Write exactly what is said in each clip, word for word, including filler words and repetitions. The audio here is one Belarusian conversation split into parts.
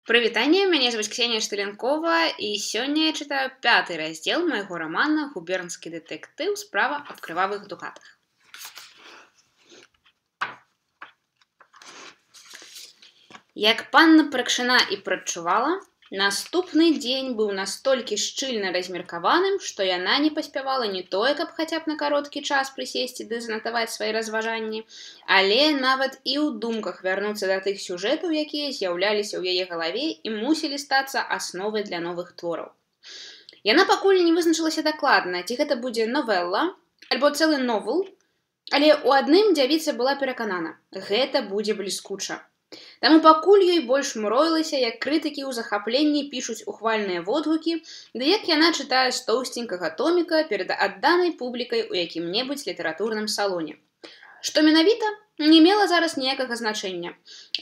Прывітанне, мяне звуць Ксенія Штылянкова, і сёння я чытаю пяты раздзел майго рамана «Губернскі дэтэктыў. Справа аб крывавых дукатах». Як панна Прыкшына і прадчувала, наступны дзень быў настолькі шчыльна размеркаваным, што яна не паспявала не тое, каб хаця б на кароткі час прысесці ды занатаваць свае разважанні, але нават і ў думках вярнуцца да тых сюжэтаў, якія з'яўляліся ў яе галаве і мусілі стацца асновай для новых твораў. Яна пакуль не вызначылася дакладна, ці гэта будзе новелла альбо цэлы новел, але ў адным дзявіца была пераканана – гэта будзе бліскуча. Таму пакуль ёй больш мроілася, як крытыкі ў захапленні пішуць ухвальныя водгукі, ды як яна чытае з тоўсценькага томіка перад адданай публікай у якім-небудзь літаратурным салоне. Што менавіта, не мела зараз ніякага значэння.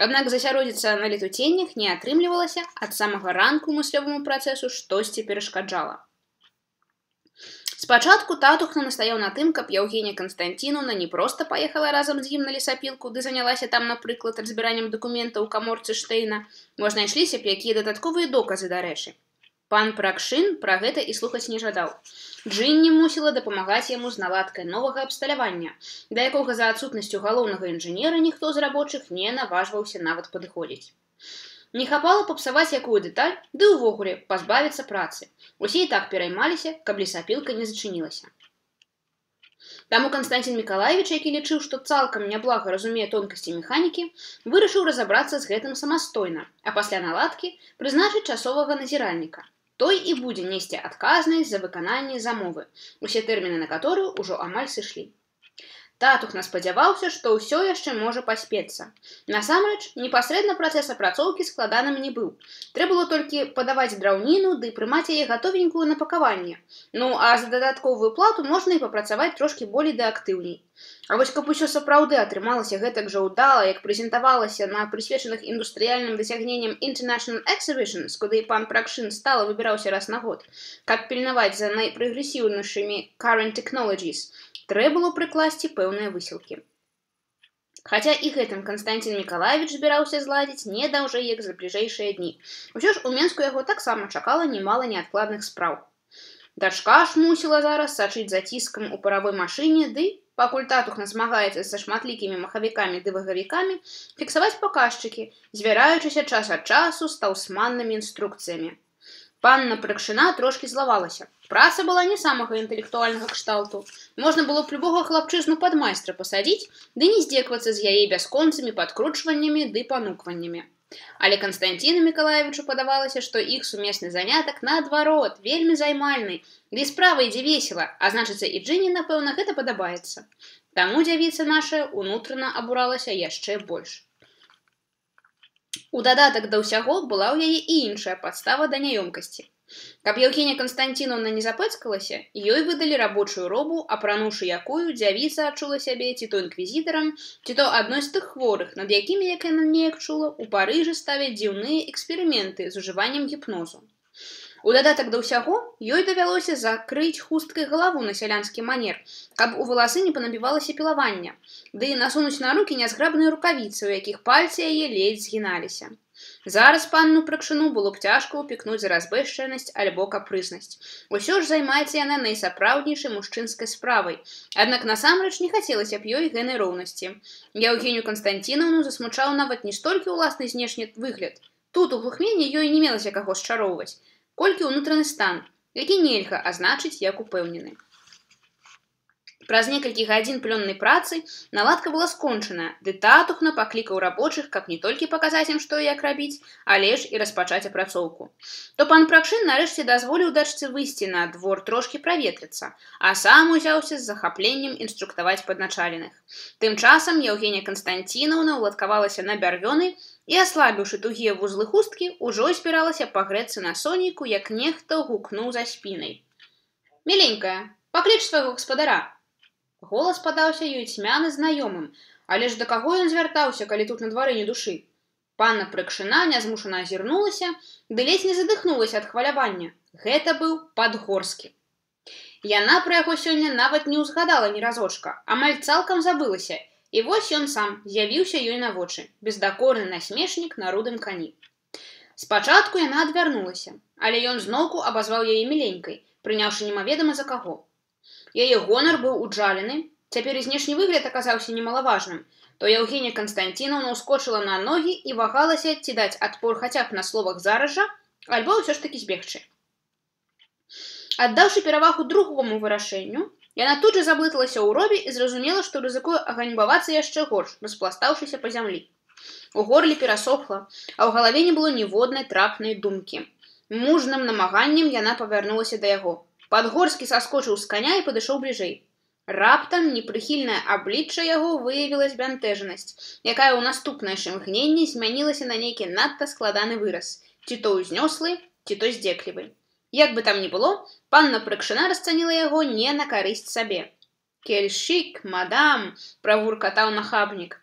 Аднак засяродзіцца на летуценнях не атрымлівалася, ад самага ранку мыслёваму працэсу штосьці перашкаджала. Спачатку татухна настаяў на тым, каб Яўгенія Канстанціноўна не проста паехала разам з ім на лесапілку, ды занялася там, напрыклад, разбіраннем дакументаў у каморцы Штэйна, мо знайшліся б якія дадатковыя доказы, дарэчы. Пан Пракшын пра гэта і слухаць не жадаў. Джынні мусіла дапамагаць яму з наладкай новага абсталявання, да якога за адсутнасцю галоўнага інжынера ніхто з рабочых не наважваўся нават падыходзіць. Не хапала папсаваць якую дэталь, ды ўвогуле пазбавіцца працы. Усе і так пераймаліся, каб лесапілка не зачынілася. Таму Канстанцін Мікалаевіч, які лічыў, што цалкам няблага разумее тонкасці механікі, вырашыў разабрацца з гэтым самастойна, а пасля наладкі прызначыць часовага назіральніка. Той і будзе несці адказнасць за выкананне замовы, усе тэрміны на каторую ўжо амаль сышлі. Татухна спадзяваўся, што ўсё яшчэ можа паспецца. Насамрэч, непасрэдна працэс апрацоўкі складаным не быў. Трэба было толькі падаваць драўніну ды прымаць яе гатовенькую на пакаванне. Ну, а за дадатковую плату можна і папрацаваць трошкі болей ды актыўней. А вось каб усё сапраўды атрымалася гэтак жа ўдала, як прэзентавалася на прысвечаных індустрыяльным дасягненням International Exhibitions, куды пан Пракшын стала выбіраўся раз на год, каб пільнаваць за найпрагрэсіўнейшымі current technologies, трэба было прыкласці пэўныя высілкі. Хаця і гэтым Канстанцін Мікалаевіч збіраўся зладзіць не даўжэй, як за бліжэйшыя дні. Усё ж у Менску яго таксама чакала немала неадкладных спраў. Дачка ж мусіла зараз сачыць за ціскам у паравой машыне, ды, пакуль татухна змагаецца са шматлікімі махавікамі ды вагавікамі, фіксаваць паказчыкі, звяраючыся час ад часу з таўсманнымі інструкцыямі. Панна Прыкшына трошкі злавалася. Праца была не самага інтэлектуальнага кшталту. Можна было б любога хлапчызну пад майстра пасадзіць, ды не здзеквацца з яе бясконцымі падкручваннямі ды панукваннямі. Але Канстанціну Мікалаевічу падавалася, што іх сумесны занятак, наадварот, вельмі займальны, ды справа ідзе весела, а значыцца і Джынні, напэўна, гэта падабаецца. Таму дзявіца наша унутрана абуралася яшчэ больш. У дадатак да ўсяго была ў яе і іншая падстава да няёмкасці. Каб Яўгенія Канстанціноўна не запэцкалася, ёй выдалі рабочую робу, апрануўшы якую дзявіца адчула сябе ці то інквізітарам, ці то адной з тых хворых, над якімі, як яна неяк чула, у Парыжы ставяць дзіўныя эксперыменты з ужываннем гіпнозу. У дадатак да ўсяго, ёй давялося закрыць хусткай галаву на сялянскі манер, каб у валасы не панабівалася пілавання, ды насунуць на рукі нязграбныя рукавіцы, у якіх пальцы яе ледзь згіналіся. Зараз панну Прыкшыну было б цяжка ўпікнуць за разбэшчанасць альбо капрызнасць. Усё ж займаецца яна найсапраўднейшай мужчынскай справай, аднак насамрэч не хацелася б ёй гэнай роўнасці. Яўгенію Канстанціноўну засмучаў нават не столькі ўласны знешні выгляд. Тут у глухмені ёй не мелася каго счароўваць, колькі ўнутраны стан, які нельга азначыць як упэўнены. Праз некалькі гадзін плённай працы наладка была скончана, ды татухна паклікаў рабочых, каб не толькі паказаць ім, што і як рабіць, але ж і распачаць апрацоўку. То пан Пракшын нарэшце дазволіў дачцы выйсці на двор трошкі праветрыцца, а сам узяўся з захапленнем інструктаваць падначаленых. Тым часам Яўгенія Канстанціноўна ўладкавалася на бярвёны і, аслабіўшы тугія вузлы хусткі, ужо збіралася пагрэцца на сонейку, як нехта гукнуў за спінай. «Міленькая, пакліч свайго гаспадара!» Голас падаўся ёй цьмяны знаёмым, але ж да каго ён звяртаўся, калі тут на двары ні душы? Панна Прыкшына нязмушана азірнулася, ды ледзь не задыхнулася ад хвалявання. Гэта быў Падгорскі. Яна пра яго сёння нават не ўзгадала ні разочка, амаль цалкам забылася, і вось ён сам з'явіўся ёй на вочы, бездакорны насмешнік на рудым кані. Спачатку яна адвярнулася, але ён зноўку абазваў яе міленькай, прыняўшы немаведама за каго. Яе гонар быў уджалены, цяпер і знешні выгляд аказаўся немалаважным, то Яўгенія Канстанціноўна ўскочыла на ногі і вагалася, ці даць адпор хаця б на словах зараз жа, альбо ўсё ж такі збегчы. Аддаўшы перавагу другому вырашэнню, яна тут жа заблыталася ў робе і зразумела, што рызыкуе аганьбавацца яшчэ горш, распластаўшыся па зямлі. У горле перасохла, а ў галаве не было ніводнай трапнай думкі. Мужным намаганнем яна павярнулася да яго. Падгорскі саскочыў з каня і падышоў бліжэй. Раптам непрыхільнае аблічча яго выявіла збянтэжанасць, якая ў наступнае імгненне змянілася на нейкі надта складаны выраз, ці то ўзнёслы, ці то здзеклівы. Як бы там ні было, панна Прыкшына расцаніла яго не на карысць сабе. «Кельшик, мадам!» – правуркатаў нахабнік.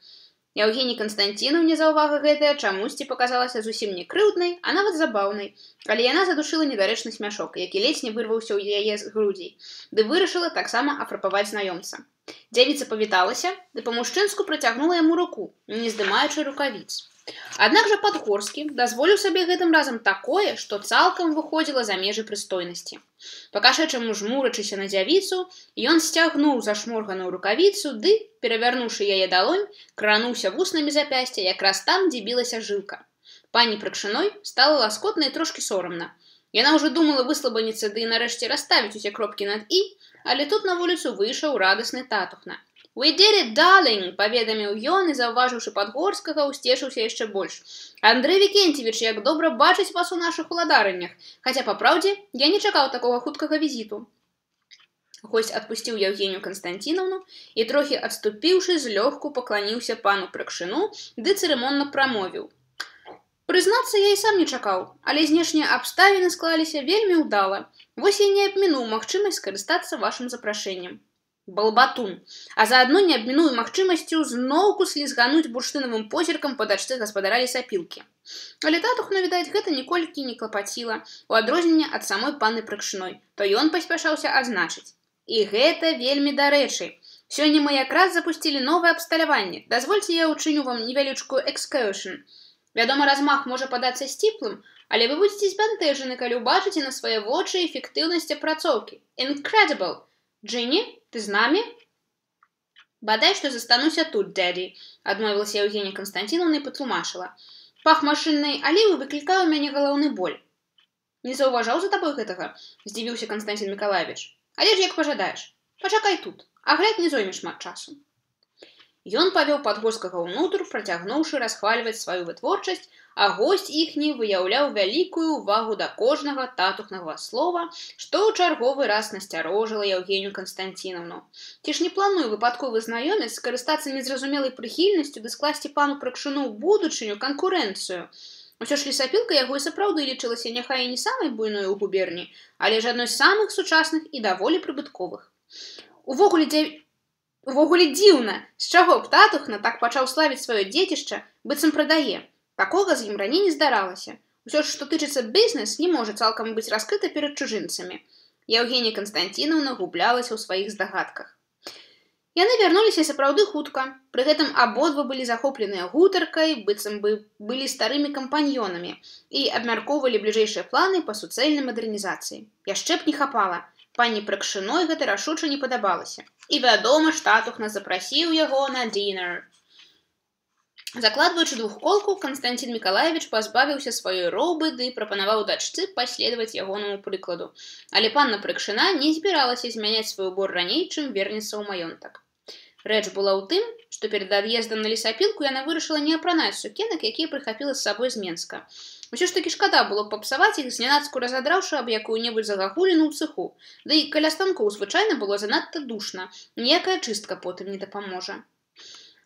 Яўгеній Канстанціноўне заўвага гэтая чамусьці паказалася зусім не крыўднай, а нават забаўнай, але яна задушыла недарэчны смяшок, які ледзь не вырваўся ў яе з грудзей, ды вырашыла таксама афрапаваць знаёмца. Дзявіца павіталася, ды па-мужчынску працягнула яму руку, не здымаючы рукавіц. Аднак жа Падгорскі дазволіў сабе гэтым разам такое, што цалкам выходзіла за межы прыстойнасці. Па-кашачаму жмурачыся на дзявіцу, ён сцягнуў зашморганую рукавіцу, ды, перавярнуўшы яе далонь, крануўся вуснамі запясця якраз там, дзе білася жылка. Пані Прыкшыной стала ласкотна і трошкі сорамна. Яна ўжо думала выслабаніцца ды і нарэшце расставіць усе кропкі над «і», але тут на вуліцу выйшаў радасны татухна. «We did it, darling!» – паведаміў ён і, заўважыўшы Падгорскага, усцешыўся яшчэ больш. «Андрэй Вікенцевіч, як добра бачыць вас у нашых уладарыннях! Хаця, па праўдзе, я не чакаў такога хуткага візіту». Госць адпусціў Яўгенію Канстанціноўну і, трохі адступіўшы, злёгку пакланіўся пану Прыкшыну, ды цырымонна прамовіў. «Прызнацца, я і сам не чакаў, але знешнія абставіны склаліся вельмі ўдала. Вось я не абмінуў магчымасць скарыстацца вашым запрашэннем». Балбатун, а заадно не абміную магчымасцю зноўку слізгануць бурштынавым позіркам па дачцы гаспадара лесапілкі. Але татухна, відаць, гэта ніколькі не клапаціла, у адрозненне ад самой панны Прыкшыной, то ён паспяшаўся адзначыць. І гэта вельмі дарэчы. Сёння мы якраз запусцілі новае абсталяванне. Дазвольце я ўчыню вам невялічкую экскуршн. Вядома, размах можа падацца сціплым, але вы будзеце збянтэжаны, калі ўбачыце на свае вочы эфектыўнасць апрацоўкі. Incredible! Джинни, ты з намі? Бадай, што застануся тут, дядзі, адмовілася Яўгенія Канстанціноўна і патлумачыла. Пах машыннай алівы выклікае ў мяне галаўны боль. Не заўважаў за табой гэтага? Здзівіўся Канстанцін Мікалаевіч. Але ж як пажадаеш. Пачакай тут, агляд не зойме шмат часу. Ён павёў Падгорскага ўнутр, працягнуўшы расхвальваць сваю вытворчасць, а госць іхні выяўляў вялікую ўвагу да кожнага татухнага слова, што ў чарговы раз насцярожыла Яўгенію Канстанціноўну. Ці ж не планую выпадковы знаёмец скарыстацца незразумелай прыхільнасцю ды скласці пану Прыкшыну ў будучыню канкурэнцыю. Усё ж лесапілка яго і сапраўды лічылася няхай і не самай буйной у губерні, але ж адной з самых сучасных і даволі прыбытковых. Увогуле дзя... Увогуле дзіўна, з чаго б татухна так пачаў славіць сваё дзецішча, быццам прадае. Такога з ім раней не здаралася. Усё ж, што тычыцца бізнес, не можа цалкам быць раскрыта перад чужынцамі. Яўгенія Канстанціноўна гублялася ў сваіх здагадках. Яны вярнуліся сапраўды хутка. Пры гэтым абодва былі захопленыя гутаркай, быццам бы былі старымі кампаньёнамі і абмяркоўвалі бліжэйшыя планы па суцэльнай мадэрнізацыі. Яшчэ б не хапала. Пані Прыкшыной гэта рашуча не падабалася. І вядома, татухна запрасіў яго на дінер. Закладваючы двухколку, Канстанцін Мікалаевіч пазбавіўся сваёй робы ды прапанаваў дачцы паследаваць ягонаму прыкладу. Але панна Прыкшына не збіралася змяняць свой убор раней, чым вернецца ў маёнтак. Рэч была ў тым, што перад ад'ездам на лесапілку яна вырашыла не апранаць сукенак, якія прыхапіла з сабой з Менска. Усё ж такі шкада было папсаваць іх, знянацку разадраўшы аб якую-небудзь загагуліну ў цыху. Да і каля станкоў звычайна было занадта душна, ніякая чыстка потым не дапаможа.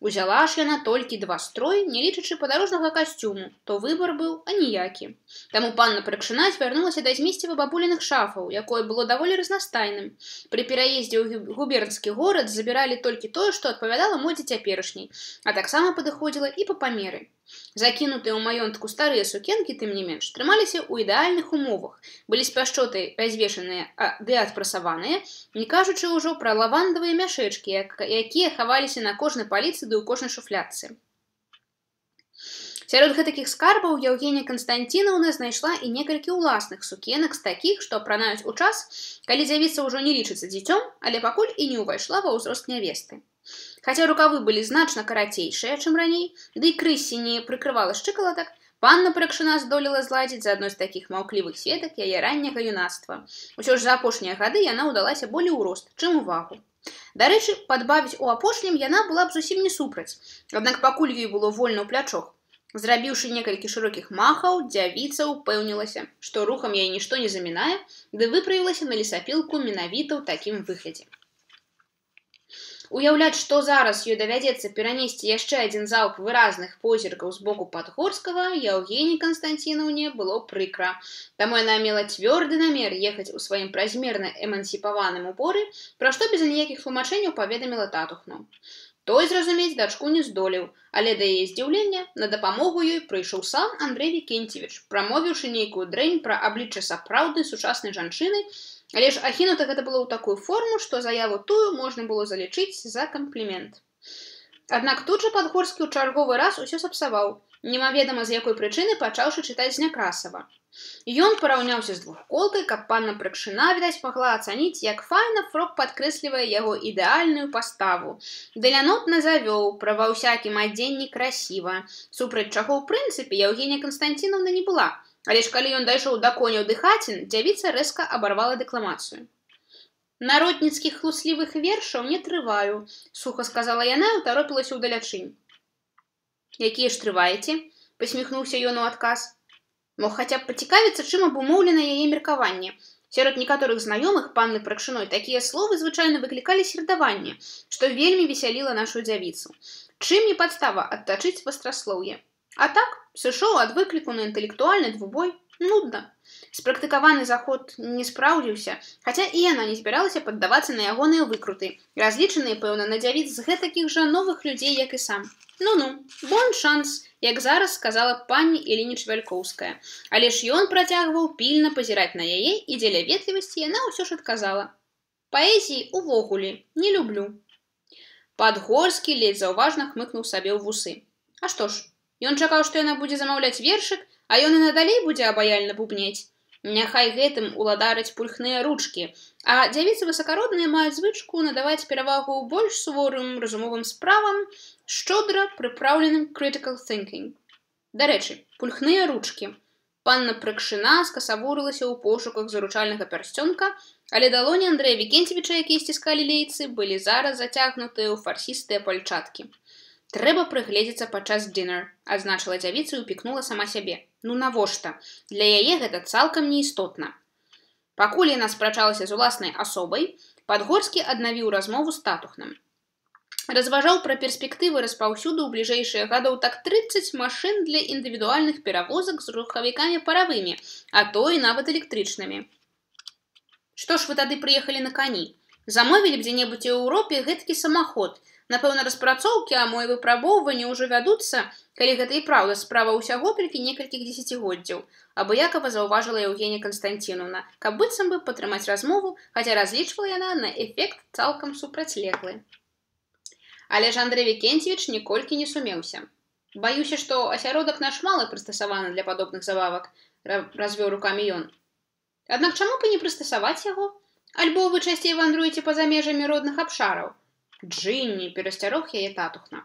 Узяла ж яна толькі два строй, не лічачы падарожнага касцюму, то выбар быў аніякі. Таму панна Прыкшына звярнулася да змесціва бабуліных шафаў, якое было даволі разнастайным. Пры пераездзе ў губернскі горад забіралі толькі тое, што адпавядала модзе цяперашняй, а таксама падыходзіла і па памеры. Закінутыя ў маёнтку старыя сукенкі, тым не менш, трымаліся ў ідэальных умовах, былі з пяшчотай развешаныя ды адпрасаваныя, не кажучы ўжо пра лавандавыя мяшэчкі, якія хаваліся на кожнай паліцы ды ў кожнай шуфлядцы. Сярод гэтакіх скарбаў Яўгенія Канстанцінаўна знайшла і некалькі ўласных сукенак з такіх, што апранаюць у час, калі дзявіца ўжо не лічыцца дзіцём, але пакуль і не ўвайшла ва ўзрост нявесты. Хаця рукавы былі значна карацейшыя, чым раней, ды і крыссі не прыкрывала шчыкалатак, панна Прыкшына здолела зладзіць за адной з такіх маўклівых сведак яе ранняга юнацтва. Усё ж за апошнія гады яна ўдалася болей у рост, чым у вагу. Дарэчы, падбавіць у апошнім яна была б зусім не супраць, аднак пакуль ёй было вольна ў плячох. Зрабіўшы некалькі шырокіх махаў, дзявіца ўпэўнілася, што рухам яе нішто не замінае, ды выправілася на лесапілку менавіта ў такім выглядзе. Уяўляць, што зараз ёй давядзецца перанесці яшчэ адзін залп выразных позіркаў з боку Падгорскага, Яўгеніі Канстанцінаўне было прыкра. Таму яна мела цвёрды намер ехаць у сваім празмерна эмансіпаваным уборы, пра што без аніякіх тлумачэнняў паведаміла татухну. Той зразумець дачку не здолеў, але да яе здзіўлення на дапамогу ёй прыйшоў сам Андрэй Вікенцевіч, прамовіўшы нейкую дрэнь пра аблічча сапраўднай сучаснай жанчыны, але ж ахінута гэта было ў такую форму, што заяву тую можна было залічыць за камплімент. Аднак тут жа Падгорскі ў чарговы раз усё сапсаваў, немаведама з якой прычыны пачаўшы чытаць з Някрасава. Ён параўняўся з двухколкай, каб панна Прыкшына, відаць, магла ацаніць, як файна фрок падкрэслівае яго ідэальную паставу. Далянотна завёў, пра ва ўсякім адзенні красіва, супраць чаго ў прынцыпе Яўгенія Канстанцінаўна не была, але ж калі ён дайшоў да коняў ды хацін, дзявіца рэзка абарвала дэкламацыю. «Народніцкіх хлуслівых вершаў не трываю», — суха сказала яна і ўтаропілася ўдалячынь. «Якія ж трываеце?» — пасміхнуўся ён у адказ. Мог хаця б пацікавіцца, чым абумоўлена яе меркаванне. Сярод некаторых знаёмых панны Прыкшыной такія словы звычайна выклікалі сердаванне, што вельмі весяліла нашу дзявіцу. Чым не падстава адтачыць вастраслоўе. А так, сышоў ад выкліку на інтэлектуальны двубой. Нудна. Спрактыкаваны заход не спраўдзіўся, хаця і яна не збіралася паддавацца на ягоныя выкруты, разлічаныя, пэўна, на дзявіц з гэтакіх жа новых людзей, як і сам. Ну-ну, бон шанс, як зараз сказала пані Ілініч Вялькоўская. Але ж ён працягваў пільна пазіраць на яе, і дзеля ветлівасці яна ўсё ж адказала. Паэзіі увогуле не люблю. Падгорскі ледзь заўважна хмыкнуў сабе ў вусы. А што ж, ён чакаў, што яна будзе замаўляць вершык, а ён і надалей будзе абаяльна бубнець. Няхай гэтым уладараць пульхныя ручкі, а дзявіцы высакародныя маюць звычку надаваць перавагу больш суворым разумовым справам, шчодра прыпраўленым critical thinking. Дарэчы, пульхныя ручкі. Панна Прыкшына скасавурылася ў пошуках заручальнага пярсцёнка, але далоні Андрэя Вікенцевіча, якія сціскалі лейцы, былі зараз зацягнутыя ў фарсістыя пальчаткі. «Трэба прыгледзецца падчас дынер», — адзначыла дзявіца і ўпікнула сама сябе. Ну навошта? Для яе гэта цалкам неістотна. Пакуль яна спрачалася з уласнай асобай, Падгорскі аднавіў размову з татухным. Разважаў пра перспектывы распаўсюду ў бліжэйшыя гадоў так трыццаць машын для індывідуальных перавозак з рухавікамі паравымі, а то і нават электрычнымі. Што ж вы тады прыехалі на кані? Замовілі б дзе-небудзь у Еўропе гэтакі самаход. Напэўна, распрацоўкі, а мо і выпрабоўванні ўжо вядуцца, калі гэта і праўда справа ўсяго толькі некалькіх дзесяцігоддзяў, абыякава заўважыла Яўгенія Канстанцінаўна, каб быццам бы падтрымаць размову, хаця разлічвала яна на эфект цалкам супрацьлеглы. Але ж Андрэй Вікенцевіч ніколькі не сумеўся. «Баюся, што асяродак наш мала прыстасаваны для падобных забавак», — развёў рукамі ён. «Аднак чаму б і не прыстасаваць яго? Альбо вы часцей вандруеце па-за межамі родных абшараў?» «Джинні», — перасцярог яе татухна.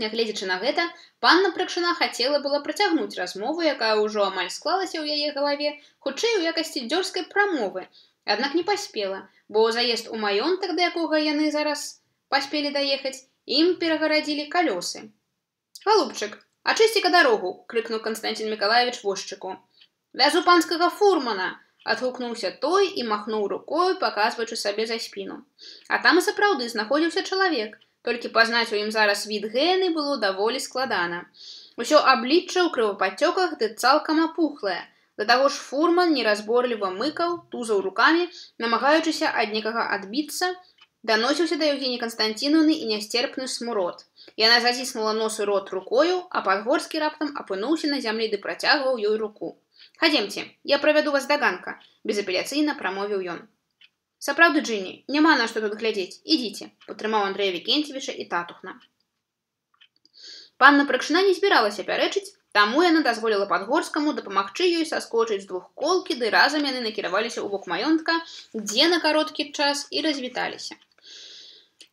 Нягледзячы на гэта, панна Прыкшына хацела была працягнуць размову, якая ўжо амаль склалася ў яе галаве, хутчэй у якасці дзёрзкай прамовы, аднак не паспела, бо заезд у маёнтак, да якога яны зараз паспелі даехаць, ім перагарадзілі калёсы. «Галубчык, ачысці-ка дарогу!» — крыкнуў Канстанцін Мікалаевіч возчыку. «Вязу панскага фурмана!» — адгукнуўся той і махнуў рукой, паказваючы сабе за спіну. А там і сапраўды знаходзіўся чалавек, толькі пазнаць у ім зараз від Гэны было даволі складана. Усё аблічча ў крывападцёках ды цалкам апухлае. Да таго ж фурман неразборліва мыкаў, тузаў рукамі, намагаючыся ад некага адбіцца, даносіўся да Яўгеніі Канстанцінаўны і нясцерпны смурод. Яна заціснула нос і рот рукою, а Падгорскі раптам апынуўся на зямлі ды працягваў ёй руку. «Хадземце, я правяду вас да ганка», — безапеляцыйна прамовіў ён. «Сапраўды, Джинні, няма на што тут глядзець. Ідзіце», — падтрымаў Андрэя Вікенцевіча і татухна. Панна Прыкшына не збіралася пярэчыць, таму яна дазволіла Падгорскаму дапамагчы ёй саскочыць з двухколкі, ды разам яны накіраваліся ў бок маёнтка, дзе на кароткі час і развіталіся.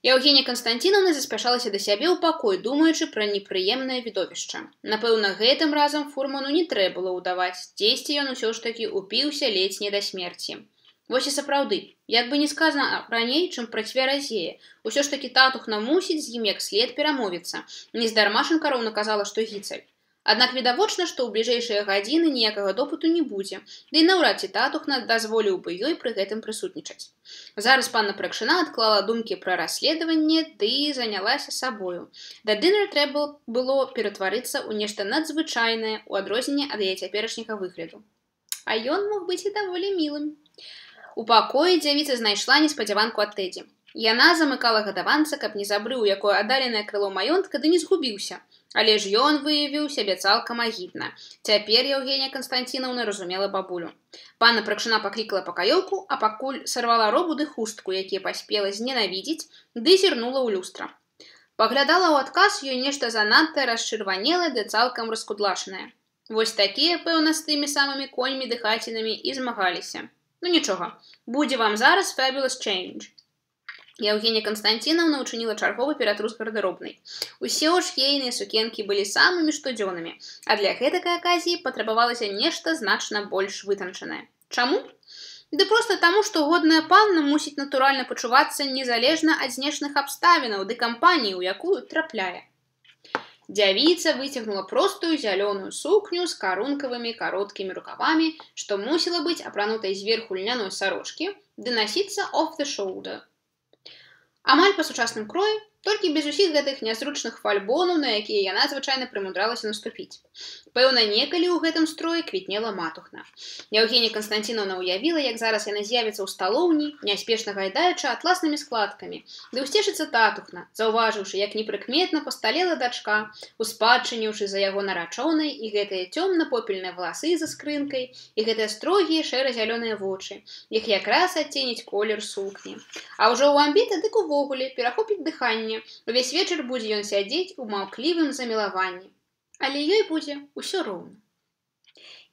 Яўгенія Канстанціновна заспяшалася да сябе ў пакой, думаючы пра непрыемнае відовішча. Напэўна, гэтым разам фурману не трэба было ўдаваць, дзесьці ён усё ж такі упіўся ледзь не да смерці. Вось і сапраўды, як бы не сказана раней, чым пра цвяразее, усё ж такі татухна мусіць з ім як след перамовіцца. Нездарма Шанкароўна казала, што гіцаль. Аднак відавочна, што ў бліжэйшыя гадзіны ніякага допыту не будзе, ды і наўрад ці татухна дазволіў бы ёй пры гэтым прысутнічаць. Зараз панна Прыкшына адклала думкі пра расследаванне, ды занялася сабою. Да дынера трэба было ператварыцца ў нешта надзвычайнае ў адрозненне ад яе цяперашняга выгляду. А ён мог быць і даволі мілым. У пакоі дзявіца знайшла неспадзяванку ад Тэдзі. Яна замыкала гадаванца, каб не забрыў якое аддаленае крыло маёнтка, ды не згубіўся. Але ж ён выявіў сябе цалкам агідна. Цяпер Яўгенія Канстанціновна разумела бабулю. Панна Прыкшына паклікала пакаёўку, а пакуль сарвала робу ды хустку, якія паспела зненавідзець, ды зірнула ў люстра. Паглядала ў адказ ёй нешта занадта расчырванелае ды цалкам раскудлашанае. Вось такія, пэўна, з тымі самымі коньмі ды хацінамі і змагаліся. Ну нічога, будзе вам зараз fabulous change. Яўгенія Канстанціновна ўчыніла чарговы ператрус гардэробнай. Усе ж ейныя сукенкі былі самымі штодзённымі, а для гэтакай аказіі патрабавалася нешта значна больш вытанчанае. Чаму? Ды проста таму, што годная панна мусіць натуральна пачувацца незалежна ад знешных абставінаў ды кампаніі, у якую трапляе. Дзявіца выцягнула простую зялёную сукню з карункавымі кароткімі рукавамі, што мусіла быць апранутай зверху льняной сарочкі, ды насіцца off the shoulder. Амаль па сучасным кроі, толькі без усіх гэтых нязручных фальбонаў, на якія яна звычайна прымудралася наступіць. Пэўна, некалі ў гэтым строі квітнела матухна. Яўгенія Канстанціновна ўявіла, як зараз яна з'явіцца ў сталоўні, няспешна гайдаючы атласнымі складкамі, ды ўсцешыцца татухна, заўважыўшы, як непрыкметна пасталела дачка, успадчыніўшы за яго нарачонай і гэтыя цёмна-попельныя валасы за скрынкай, і гэтыя строгія шэра-зялёныя вочы, іх якраз адценіць колер сукні. А ўжо ў амбіта дык увогуле перахопіць дыханне, увесь вечар будзе ён сядзець у маўклівым замілаванні. Але ёй будзе ўсё роўна.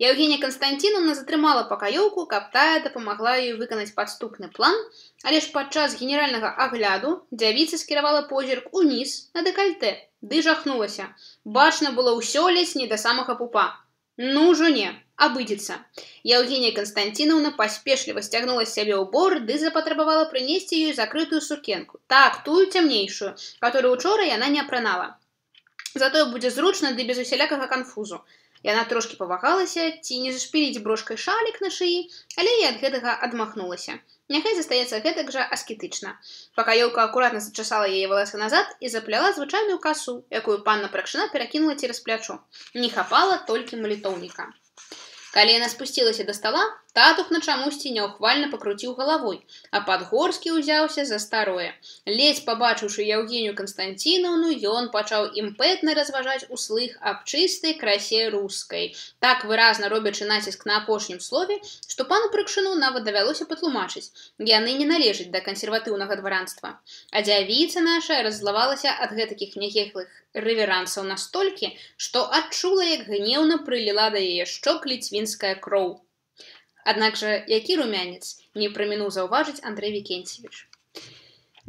Яўгенія Канстанціновна затрымала пакаёўку, каб тая дапамагла ёй выканаць падступны план, але ж падчас генеральнага агляду дзявіца скіравала позірк уніз на дэкальтэ, ды жахнулася. Бачна было ўсё ледзь не да самага пупа. Ну ўжо не, абыдзецца. Яўгенія Канстанціновна паспешліва сцягнула з сябе ўбор, ды запатрабавала прынесці ёй закрытую сукенку. Так, тую цямнейшую, которую учора яна не апранала. Затое будзе зручна ды без усялякага канфузу. Яна трошкі павагалася, ці не зашпіліць брошкай шалік на шыі, але і ад гэтага адмахнулася. Няхай застаецца гэтак жа аскетычна. Пакаёўка акуратна зачасала яе валасы назад і запляла звычайную касу, якую панна Прыкшына перакінула цераз плячо. Не хапала толькі малітоўніка. Калі яна спусцілася да стала, татухна чамусьці няўхвальна пакруціў галавой, а Падгорскі ўзяўся за старое. Ледзь пабачыўшы Яўгенію Канстанціновну, ён пачаў імпэтна разважаць услых аб чыстай красе рускай, так выразна робячы націск на апошнім слове, што пану Прыкшыну нават давялося патлумачыць. Яны не належаць да кансерватыўнага дваранства. А дзявіца наша раззлавалася ад гэтакіх нягехлых рэверансаў настолькі, што адчула, як гнеўна прыліла да яе шчок ліцвінская кроў. Аднак жа, які румянец, не прамінуў заўважыць Андрэй Вікенцевіч.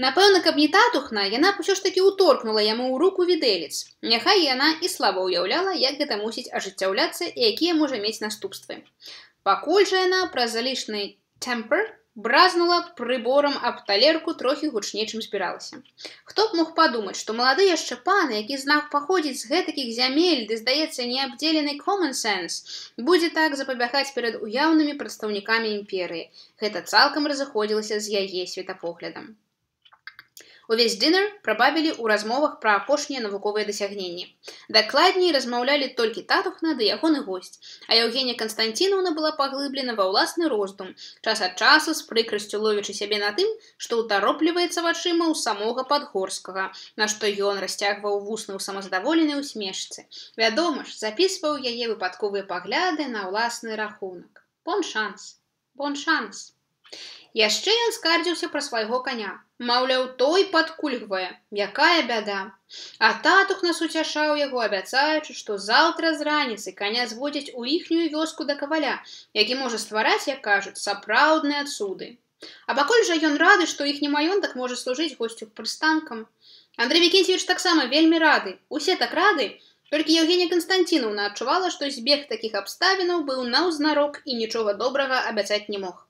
Напэўна, каб не татухна, яна б усё ж такі ўторкнула яму ў руку відэлец. Няхай яна і слаба ўяўляла, як гэта мусіць ажыццяўляцца і якія можа мець наступствы. Пакуль жа яна праз залішны темпер бразнула прыборам аб талерку трохі гучней, чым збіралася. Хто б мог падумаць, што малады яшчэ пан, які знак паходзіць з гэтакіх зямель, ды, здаецца, неабдзелены common sense, будзе так запабягаць перад уяўнымі прадстаўнікамі імперыі. Гэта цалкам разыходзілася з яе светапоглядам. Увесь дынер прабавілі ў размовах пра апошнія навуковыя дасягненні. Дакладней размаўлялі толькі татухна ды ягоны госць, а Яўгенія Канстанціновна была паглыблена ва ўласны роздум, час ад часу з прыкрасцю ловячы сябе на тым, што ўтаропліваецца вачыма ў самога Падгорскага, на што ён расцягваў вусны ў самазадаволенай усмешцы. Вядома ж, запісваў яе выпадковыя пагляды на ўласны рахунак. Бон шанс, бон шанс. Яшчэ ён скардзіўся пра свайго каня. Маўляў, той падкульгвае, якая бяда. А татух нас уцяшаў яго, абяцаючы, што заўтра з раніцы каня зводзяць у іхнюю вёску да каваля, які можа ствараць, як кажуць, сапраўдныя цуды. А пакуль жа ён рады, што іхні маёнтак можа служыць госцю прыстанкам. Андрэй Вікенцевіч таксама вельмі рады. Усе так рады, толькі Евгенія Константиновна адчувала, што збег такіх абставінаў быў наўзнарок і нічога добрага абяцаць не мог.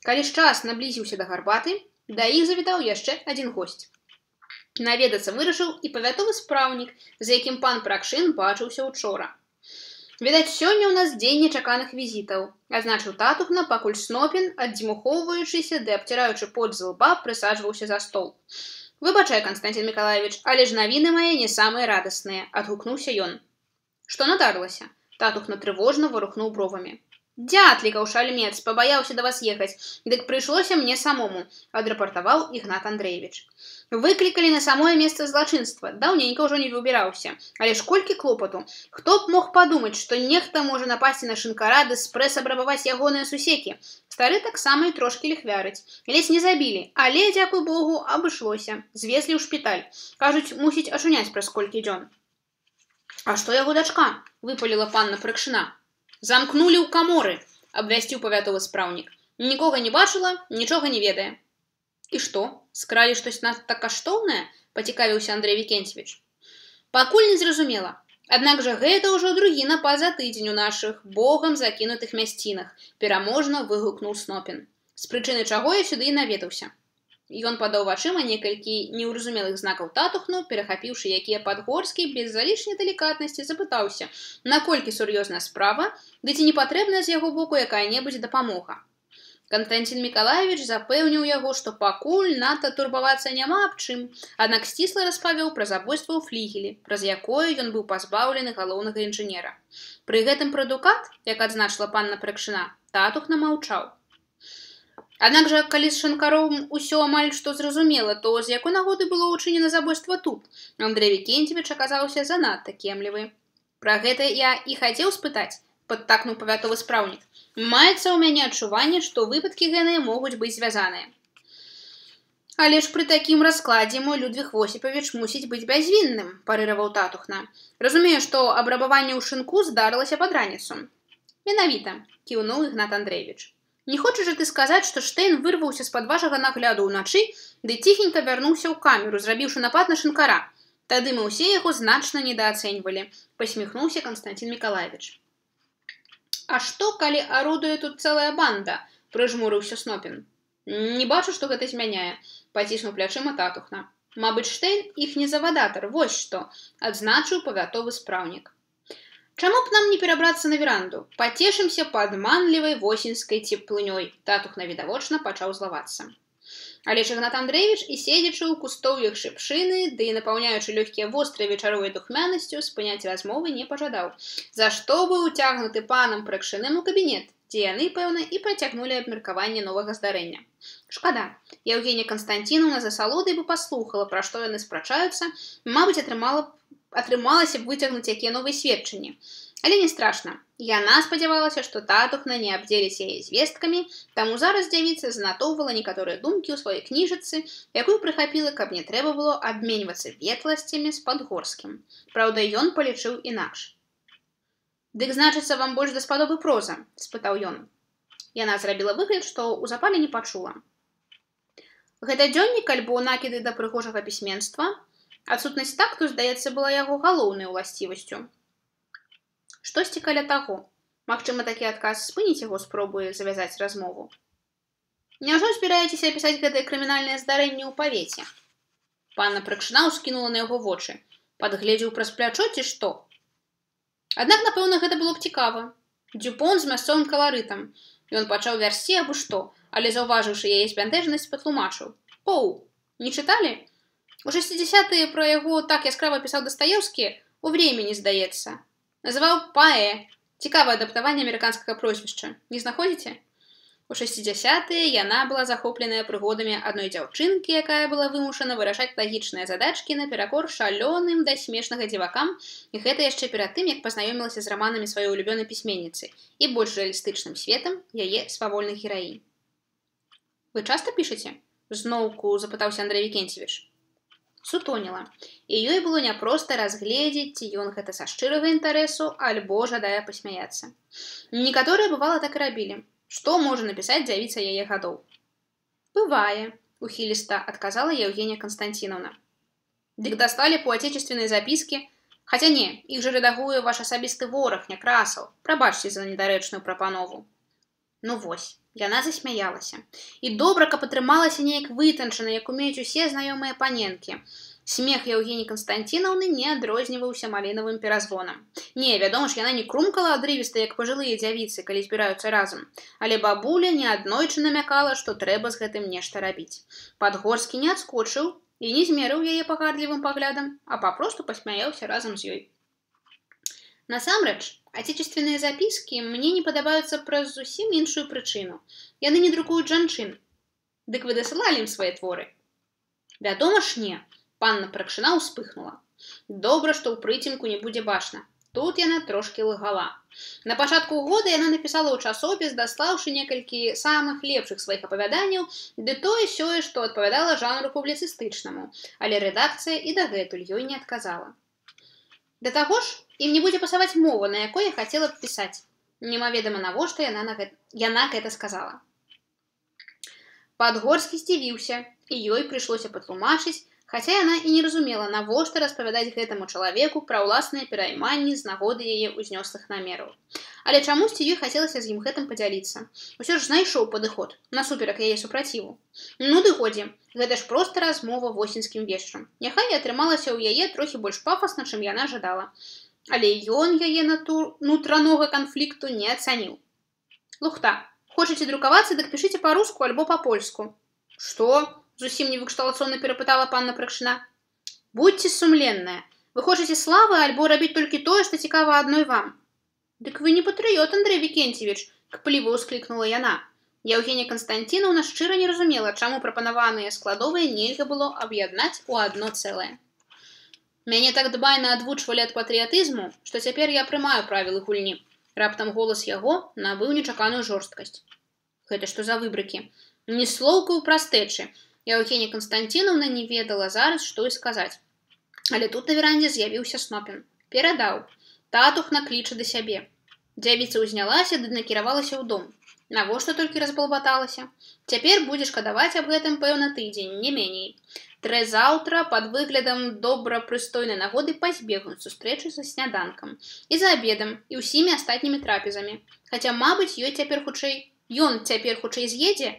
Калі ж час наблізіўся да гарбаты, да іх завітаў яшчэ адзін госць. Наведацца вырашыў і павятовы спраўнік, з якім пан Пракшын бачыўся учора. Відаць, сёння ў нас дзень нечаканых візітаў, азначыў татухна, пакуль Снопін, аддзьмухоўваючыся ды абціраючы пот з лба, прысаджваўся за стол. «Выбачай, Константин Миколаевич, але ж навіны мае не самыя радасныя», – адгукнуўся ён. «Што надарылася?» – татухна трывожна варухнуў бровамі. «Дятлікаў шальмец, пабаяўся да вас ехаць, дык прыйшлося мне самому», – адрапартаваў Ігнат Андрэевич. «Выклікалі на самое месца злачынства, даўненька ўжо не выбіраўся, але ж колькі клопату. Хто б мог падумаць, што нехта можа напасці на шынкара ды спрэс абрабаваць ягоныя сусекі. Стары таксама і трошкі ліхвярыць. Ледзь не забілі, але, дзякуй Богу, абышлося. Звезлі ў шпіталь. Кажуць, мусіць ачуняць праз колькі дзён». «А што яго дачка?» – выпаліла панна Пракшына. «Замкнулі ў каморы», – абвясціў павятовы спраўнік. «Нікога не бачыла, нічога не ведае». «І што, скралі штось надта каштоўнае?» – пацікавіўся Андрэй Вікенцевіч. «Пакуль не зразумела. Аднак жа гэта ўжо другі напад за тыдзень у нашых богам закінутых мясцінах», – пераможна выгукнуў Снопін. «З прычыны чаго я сюды і наведаўся». Ён падаў вачыма некалькі неўразумелых знакаў татухну, перахапіўшы якія Падгорскі без залішняй далікатнасці, запытаўся, наколькі сур'ёзная справа, ды ці не патрэбная з яго боку якая-небудзь дапамога. Константин Миколаевич запэўніў яго, што пакуль надта турбавацца няма аб чым, аднак сцісла распавёў пра забойства ў флігелі, праз якое ён быў пазбаўлены галоўнага інжынера. Пры гэтым пра дукат, як адзначыла панна Пракшына, татухна маўчаў. Аднак жа, калі з шанкаром усё амаль што зразумела, то з якой нагоды было ўчынена забойства тут, Андрэй Вікенцевіч аказаўся занадта кемлівы. «Пра гэта я і хацеў спытаць», – падтакнуў павятовы спраўнік. «Маецца ў мяне адчуванне, што выпадкі гэныя могуць быць звязаныя». «Але ж пры такім раскладзе мой Людвіг Восіпавіч мусіць быць бязвінным», – парыраваў татухна. «Разумею, што абрабаванне ў шынку здарылася пад раніцу». «Менавіта», – кіўнуў Ігнат Андрэевич. «Не хочаш жа ты сказаць, што Штэйн вырваўся з-пад вашага нагляду ўначы, ды ціхенька вярнуўся ў камеру, зрабіўшы напад на шынкара. Тады мы ўсе яго значна недаацэньвалі», – пасміхнуўся Константин Миколаевич. «А што, калі арудуе тут цэлая банда?» – прыжмурыўся Снопін. «Не бачу, што гэта змяняе», – паціснуў плячыма татухна. «Мабыць, Штэйн іхні завадатар, вось што», – адзначыў павятовы спраўнік. «Чаму б нам не перабрацца на веранду? Пацешымся падманлівай восеньскай цеплынёй», – татухна відавочна пачаў злавацца. Але ж Ігнат Андрэевіч і седзячы ў кустоўях шыпшыны, ды і напаўняючы лёгкія вострай вечаровай духмянасцю, спыняць размовы не пажадаў, за што быў уцягнуты панам Пракшыным у кабінет, дзе яны, пэўна, і працягнулі абмеркаванне новага здарэння. Шкада, Евгенія Константиновна за салодай бы паслухала, пра што яны спрачаюцца, мабыць, атрымала атрымалася б выцягнуць якія новыя сведчанні. Але не страшна. Яна спадзявалася, што татухна не абдзеліць яе звесткамі, таму зараз дзявіца занатоўвала некаторыя думкі ў сваёй кніжыцы, якую прыхапіла, каб не трэба было абменьвацца ветласцямі з Падгорскім. Праўда, ён палічыў інакш. «Дык, значыцца, вам больш даспадобы проза?» – спытаў ён. Яна зрабіла выгляд, што ў запале не пачула. «Гэта дзённік альбо накіды да прыгожага пісьменства?» Адсутнасць такту, здаецца, была яго галоўнай уласцівасцю. Штосьці каля таго. Магчыма, такі адказ спыніць яго, спробуе завязаць размову. «Няўжо збіраецеся апісаць гэтае крымінальнае здарэнне ў павеце?» Панна Пракшына ўскінула на яго вочы. «Падгледзеў праз плячо ці што?» Аднак, напэўна, гэта было б цікава. Дюпон з мясцовым каларытам. Ён пачаў вярсці абы што, але, заўважыўшы яе збянтэжнасць, патлумачыў. «Поу, не чыталі? У шэсцідзесятыя пра яго так яскрава пісаў Дастаеўскі, у времени, здаецца. Называў паэ. Цікавае адаптаванне амерыканскага прозвішча. Не знаходзіце?» У шэсцідзесятыя яна была захопленая прыгодамі адной дзяўчынкі, якая была вымушана вырашаць лагічныя задачкі наперакор шалёным да смешнага дзівакам, і гэта яшчэ перад тым, як пазнаёмілася з раманамі сваёй улюбёнай пісьменніцы і больш рэалістычным светам яе свавольных гераінь. Вы часта пішаце? Зноўку запытаўся Андрэй Вікенцевіч. Сутоніла, і ёй было няпроста разгледзець, ці ён гэта са шчырага інтарэсу, альбо жадае пасмяяцца. Некаторыя, бывала, так і рабілі. Што можа напісаць дзявіца яе гадоў? Бывае, ухіліста адказала Евгения Константиновна. Дык дасталі поотечественныя запіскі? Хаця не, іх жа рэдагуе ваш асабісты вораг, Някрасаў. Прабачце за недарэчную прапанову. Ну вось, яна засмяялася. І добра, каб атрымалася неяк вытанчана, як умеюць усе знаёмыя паненкі. Смех Евгении Константиновны не адрозніваўся малінавым перазвонам. Не, вядома ж, яна не крумкала адрывіста, як пажылыя дзявіцы, калі збіраюцца разам. Але бабуля неаднойчы намякала, што трэба з гэтым нешта рабіць. Падгорскі не адскочыў і не змерыў яе пагардлівым паглядам, а папросту пасмяяўся разам з ёй. Насамрэч, отечественныя запіскі мне не падабаюцца праз зусім іншую прычыну. Яны не друкуюць жанчын. Дык вы дасылалі ім свае творы? Вядома ж не. Панна Пракшына ўспыхнула. Добра, што ў прыцемку не будзе бачна. Тут яна трошкі лагала. На пачатку года яна напісала ў часопіс, даслаўшы некалькі самых лепшых сваіх апавяданняў, ды тое сёе, што адпавядала жанру публіцыстычнаму, але рэдакцыя і дагэтуль ёй не адказала. Да таго ж, ім не будзе пасаваць мова, на якой я хацела б пісаць. Немаведама навошта яна, на гэта... яна гэта сказала. Падгорскі здзівіўся, і ёй прыйшлося патлумачыць, хаця яна і не разумела, навошта распавядаць гэтаму чалавеку пра ўласныя перайманні з нагоды яе ўзнёслых намераў. Але чамусьці ёй хацелася з ім гэтым падзяліцца. Усё ж знайшоў падыход, насуперак яе супраціву. Ну ды годзе, гэта ж проста размова восеньскім вечарам. Няхай і атрымалася ў яе трохі больш пафасна, чым яна жадала. Але ён яе натур... нутранога канфлікту не ацаніў. Лухта, хочаце друкавацца, дык пішыце па-руску альбо па-польску. Што? Зусім невыкшталацоўна перапытала панна Пракшына. Будьце сумленныя. Вы хочаце славы альбо рабіць толькі тое, што цікава адной вам? Дык вы не патрыёт, Андрэй Вікенцевіч, кпліва ўсклікнула яна. Евгения Константиновна шчыра не разумела, чаму прапанаваныя складовыя нельга было аб'яднаць у адно цэлае. Мяне так дбайна адвучвалі ад патрыятызму, што цяпер я прымаю правілы гульні. Раптам голас яго набыў нечаканую жорсткасць. Гэта што за выбрыкі? Ні слоўка ў прастэчы. Евгения Константиновна не ведала зараз, што і сказаць. Але тут на верандзе з'явіўся Снопін. Перадаў. Татухна кліча да сябе. Дзявіца ўзнялася ды накіравалася ў дом. Навошта толькі разбалбаталася? Цяпер будзе шкадаваць аб гэтым, пэўна, тыдзень, не меней. Трэ заўтра пад выглядам добра прыстойнай нагоды пазбегнуць сустрэчы са сняданкам. І за абедам, і ўсімі астатнімі трапезамі. Хаця, мабыць, ёй цяпер хутчэй... Ён цяпер хутчэй з'едзе,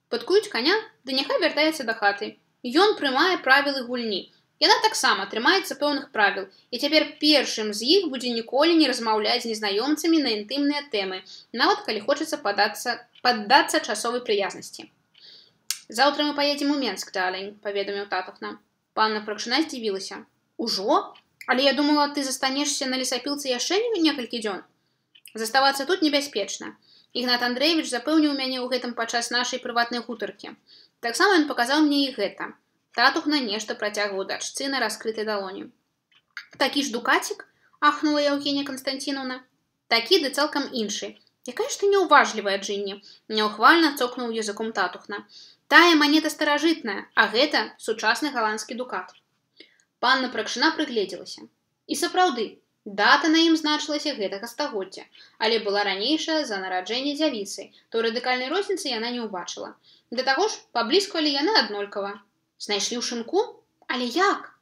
падкуюць каня, ды няхай вяртаецца да хаты. Ён прымае правілы гульні. Яна таксама трымаецца пэўных правіл, і цяпер першым з іх будзе ніколі не размаўляць з незнаёмцамі на інтымныя тэмы, нават калі хочацца падацца, паддацца часовай прыязнасці. Заўтра мы паедзем у Менск, далень, паведаміў татухна. Панна Пракшына здзівілася. Ужо? Але я думала, ты застанешся на лесапілцы яшчэ некалькі дзён. Заставацца тут небяспечна. Ігнат Андрэевіч запэўніў мяне ў гэтым падчас нашай прыватнай гутаркі. Таксама ён паказаў мне і гэта. Татухна нешта працягваў дачцы на раскрытай далоні. Такі ж дукацік? Ахнула Евгения Константиновна. Такі ды цалкам іншы. Якая ж ты няўважлівая, Джинні? Няўхвальна цокнуў языком татухна. Тая манета старажытная, а гэта сучасны галандскі дукат. Панна Пракшына прыгледзелася. І сапраўды, дата на ім значылася гэтага стагоддзя, але была ранейшая за нараджэнне дзявіцы, то радыкальнай розніцы яна не ўбачыла. Да таго ж, паблізкавалі яны аднолькава. Знайшлі ў шынку? Але як?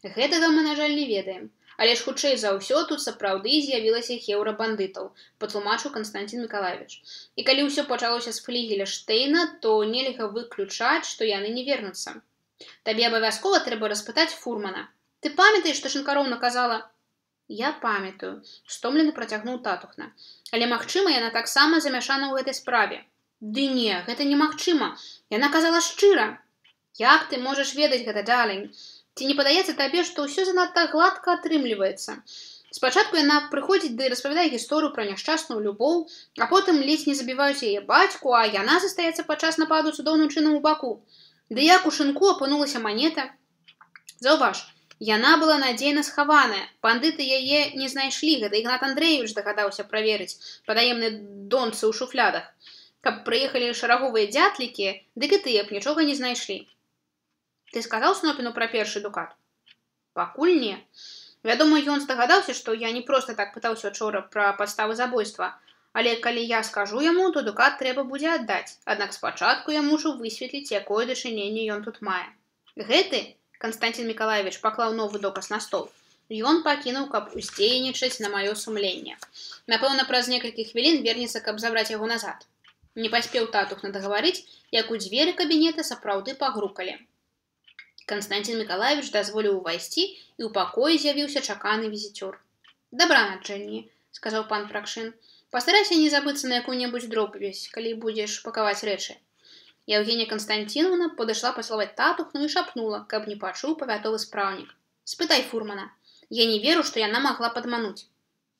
Гэтага мы, на жаль, не ведаем. Але ж хутчэй за ўсё тут сапраўды з'явілася хеўра бандытаў, патлумачыў Константин Миколаевич. І калі ўсё пачалося з флігеля Штейна, то нельга выключаць, што яны не вернуцца. Табе абавязкова трэба распытаць фурмана. Ты памятаеш, што Шынкароўна казала? Я памятаю, стомлена працягнуў татухна. Але, магчыма, яна таксама замяшана ў гэтай справе. Ды не, гэта немагчыма. Яна казала шчыра. Як ты можаш ведаць гэта, далень? Ці не падаецца табе, што ўсё занадта гладка атрымліваецца? Спачатку яна прыходзіць ды распавядае гісторыю пра няшчасную любоў, а потым ледзь не забіваюць яе бацьку, а яна застаецца падчас нападу цудоўным чынам у баку. Ды як у шынку апынулася манета? Заўваж, яна была надзейна схаваная. Бандыты яе не знайшлі, гэта Ігнат Андрэевіч дагадаўся праверыць падаемныя донцы ў шуфлядах. Каб прыехалі шараговыя дзятлікі, дык і тыя б нічога не знайшлі. Ты сказаў Снопіну пра першы дукат? Пакуль не. Вядома, ён здагадаўся, што я не проста так пытаўся учора пра падставы забойства, але калі я скажу яму, то дукат трэба будзе аддаць, аднак спачатку я мушу высветліць, якое дачыненне ён тут мае. Гэты, Константин Миколаевич паклаў новы доказ на стол, ён пакінуў, каб уздзейнічаць на маё сумленне. Напэўна, праз некалькі хвілін вернецца, каб забраць яго назад. Не паспеў татух надагаварыць, як у дзверы кабінета сапраўды пагрукалі. Константин Миколаевич дазволіў увайсці, і ў пакоі з'явіўся чаканы візіцёр. «Дабраначэнне», — сказаў пан Пракшын. «Пастарайся не забыцца на якую-небудзь дробязь, калі будзеш пакаваць рэчы». Евгения Константиновна подошла поцеловать татухну и шепнула, каб не пачуў павятовы спраўнік. «Спытай фурмана. Я не веру, што яна магла падмануць».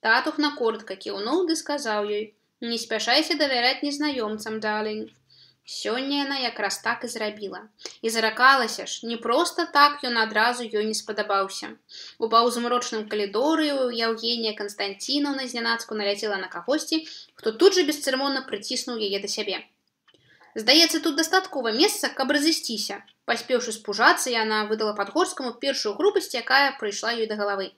Татухна коротко кіўнуў ды сказаў ёй: «Не спяшайся давяраць незнаёмцам, далень». Сёння яна якраз так і зрабіла. І заракалася ж, не проста так ён адразу ёй не спадабаўся. У паўзмрочным калідоры Евгения Константиновна знянацку наляцела на кагосьці, хто тут жа бесцырымонна прыціснуў яе да сябе. Здаецца, тут дастаткова месца, каб разысціся. Паспеўшы спужацца, яна выдала Падгорскаму першую грубасць, якая прыйшла ёй да галавы.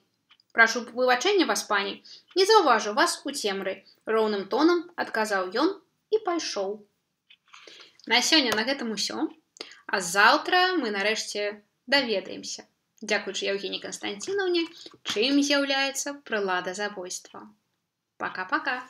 «Прашу выбачэння вас, пані, не заўважыў вас у цемры», — роўным тонам адказаў ён і пайшоў. На сёння на гэтым усё, а заўтра мы нарэшце даведаемся, дзякуючы Евгении Константиновне, чым з'яўляецца прылада забойства. Пока-пока.